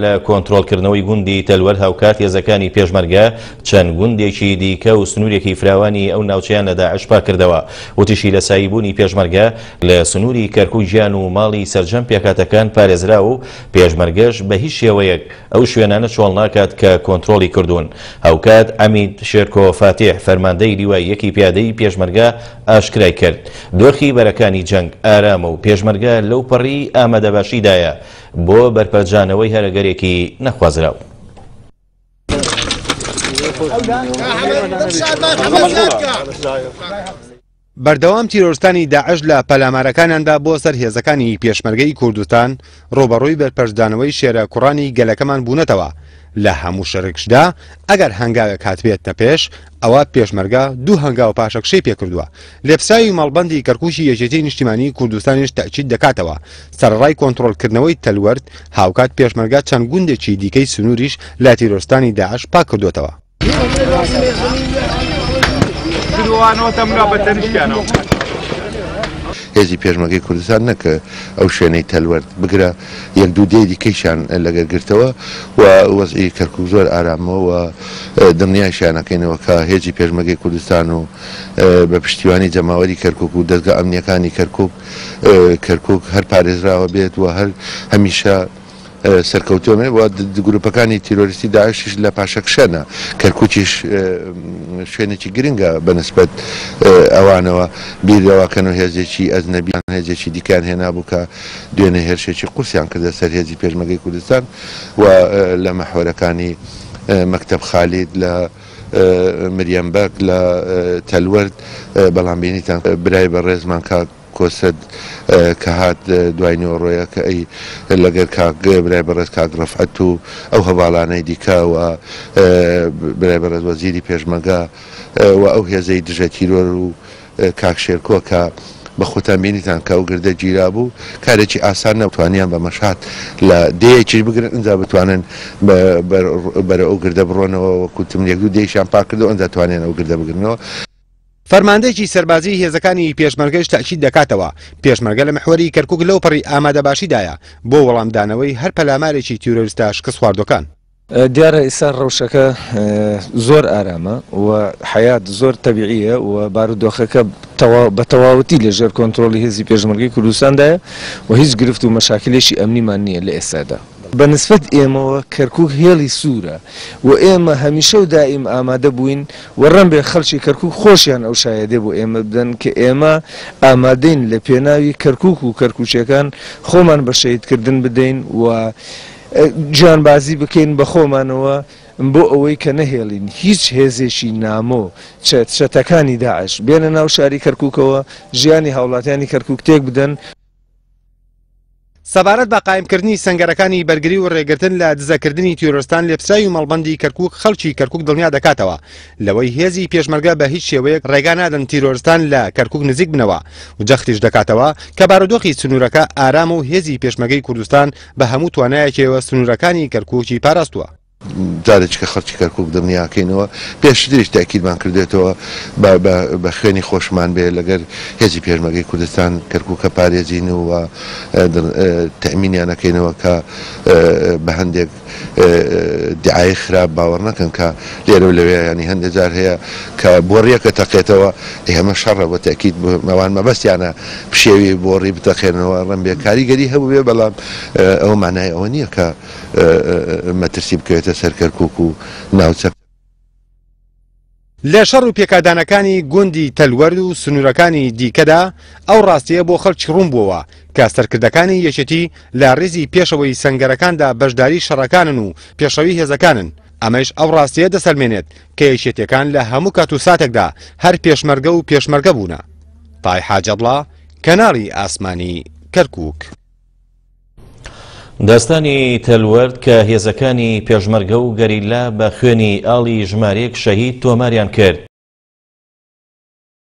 لە کۆنترۆڵکردنەوەی گوندی تەلوەر هاوکات هێزەکانی پێشمەرگە چەند گوندێکی دیکە و سنوورێکی فراوانی ئەو ناوچەیان لە داعش پاککردەوە. وتیشی لە سایەی بوونی پێشمەرگە لە سنووری کەرکوک گیان و ماڵی سەرجەم پێکهاتەکان پارێزراوە و پێشمەرگەش بە هیچ شێوەیەک ئەو شوێنانە چۆڵ ناکات کە کۆنترۆڵی کردوون. هاوکات عەمید شێرکۆ فاتیح فەرماندەی لیوای یەکی پیادەی پێشمەرگە ئاشکرای کرد دۆخی بەرەکانی جەنگ ئارامە و پێشمەرگە لەوپەڕی ئامادەباشیدایە بۆ بەرپەرچدانەوەی هەر ئەگەرێکی نەخوازراو. بەردەوام تیرۆرستانی داعش لە پەلامارەکانیاندا بۆ سەر هێزەکانی پێشمەرگەی کوردستان ڕووبەڕووی بەرپەرچدانەوەی شێرە کوڕانی گەلەکەمان بوونەتەوە، لە هەموو شەرێکشدا ئەگەر هەنگاوێک هاتبێتە پێش ئەوا پێشمەرگە دوو هەنگاو پاشەکشەی پێکردووە. لێپرسراوی مەڵبەندی کەرکوکی یەکێتیی نیشتیمانیی کوردستانیش تەئکید دەکاتەوە، سەرەڕای کۆنتڕۆڵکردنەوەی تەلوەرد، هاوکات پێشمەرگە چەند گوندێکی دیکەی سنووریش لە تیرۆرستانی داعش پاککردووەتەوە. هێزی پێشمەرگەی کوردستان نەک ئەو شوێنەی تەلوەرد، بگرە یەک دوو دێی دیکەیشیان لەگەر گرتەوە و وەزعی کەرکوک زۆر ئارامە و دڵنیایشیان ئەکەینەوە کە هێزی پێشمەرگەی کوردستان و بە پشتیوانی جەماوەری کەرکوک و دەزگا ئەمنییەکانی کەرکوک، کەرکوک هەر پارێزراوە بێت و هەر هەمیشە سەرکەوتوو بێت و گروپەکانی تیرۆریستی داعشیش لە پاشەکشەنە، کەرکوکیش شوێنێکی گرنگە بە نسبەت ئەوانەوە، بیر لەوە کەن و هێزێکی ئەجنەبی یان هێزێکی دیکەیان هێنابوو کە دوێنێ هێرشێکی قورسیان کردە سەر هێزی پێشمەرگەی کوردستان و لە مەحوەرەکانی مەکتەب خالید لە مریەم بەگ لە تەلوەرد، بەڵام بینیتان برای بەڕێزمان کاک کۆسرەت کە هات دوای نیوەڕۆیە کە ئەی لەگەر کاک برای بەڕێز کاک ڕەفعەت و ئەو هەڤاڵانەی دیکە و برای بەڕێز وەزیری پێشمەرگە و ئەو هێزەی دژە تیرۆر و کاک شێرکۆ کە بە خۆتان بینیتان کە ئەو گردە گیرابوو کارێکی ئاسان نەبوو توانیان بە مەشهاد لە دێیەکیش بگرن ئینجا بتوانن بەرەو ئەو گردە بڕۆنەوە وەکو وتم یەک دوو دێیشیان پاک کردەوە ئینجا توانیان ئەو گردە بگرنەوە. فەرماندەیەکی سەربازیی هێزەکانی پێشمەرگەش تەئکید دەکاتەوە، پێشمەرگە لە میحوەری کەرکوک لەوپەڕی ئامادەباشیدایە بۆ وەڵامدانەوەی هەر پەلامارێکی تیرۆریستە شکستخواردوەکان. دیارە ئیستا ڕەوشەکە زۆر ئارامە و حەیات زۆر تەبیعیە و بارودۆخەکە بە تەواوەتی لە ژێر کۆنترۆڵی هێزی پێشمەرگەی کوردستاندایە و هیچ گرفت و مەشاکلێکی ئەمنیمان نییە لە ئێستادا. بە نسبەت ئێمەوە کەرکوک هێڵی سوورە و ئێمە هەمیشە و دائیم ئامادە بووین و ڕەنبێ خەڵکی کەرکوک خۆشیان ئەو شایەدێ بۆ ئێمە بدەن کە ئێمە ئامادەین لە پێناوی کەرکوک و کەرکوکیەکان خۆمان بە شەهیدکردن بدەین و گیانبازی بکەین بە خۆمانەوە بۆ ئەوەی کە نەهێڵین هیچ هێزێکی نامۆ چەتەکانی داعش بێنە ناو شاری کەرکوکەوە ژیانی هاوڵاتیانی کەرکوک تێک بدەن. سەبارەت بە قایمکردنی سەنگەرەکانی بەرگری و رێگرتن لە دزەکردنی تیرۆرستان لێپرسراوی مەڵبەندی کەرکوک خەڵکی کەرکوک دڵنیا دەکاتەوە لەوەی هێزی پێشمەرگە بە هیچ شێوەیەک رێگا نادەن تیرۆرستان لە کەرکوک نزیک بنەوە و جەختیش دەکاتەوە کە بارودۆخی سنوورەکە ئارامە و هێزی پێشمەگەی کوردستان بە هەموو توانایەکیەوە سنوورەکانی کەرکوکی پاراستووە. جارێکی کە خەڵکی کەرکوک دڵنیاکەینەوە، پێشتریش تەئکیدمان کردوێتەوە بە بە خوێنی خۆشمان بێ لەگەر هێزی پێشمەرگەی کوردستان کەرکوکە پارێزین و تەئمینیان ئەکەینەوە کە بە هەندێک دیعایەی خراپ باوەڕ نەکەن کە لێرە و لەوێ یانی هەندێک جار هەیە کە بۆڕیەکە تەقێتەوە ئێ ئەمە شەڕە بۆ تەئکید ئەوان مەبەستیانە پشێوی بۆڕی بتەقێنەوە ڕەنبێ کاریگەری هەبووبێ بەڵام ئەوە مانای ئەوە نییە کە مەترسی بکەوێتە سەر کەرکوک و ناوچەکە. لە شەڕ و پێکادانەکانی گوندی تەلوەرد و سنوورەکانی دیکەدا ئەو ڕاستییە بۆ خەڵکی ڕوون بووەوە کە سەرکردەکانی یەکێتی لە ڕیزی پێشەوەی سەنگەرەکاندا بەشداری شەڕەکانن و پێشڕەوی هێزەکانن، ئەمەیش ئەو ڕاستییە دەسەلمێنێت کە یەکێتییەکان لە هەموو کات و ساتێکدا هەر پێشمەرگە و پێشمەرگە بوونە. تای حاجەبڵا، کەناڵی ئاسمانی کەرکووک. داستانی تەلوەرد کە هێزەکانی پێشمەرگە و گەریلا بە خوێنی ئاڵی ژمارەیەک شەهید تۆماریان کرد.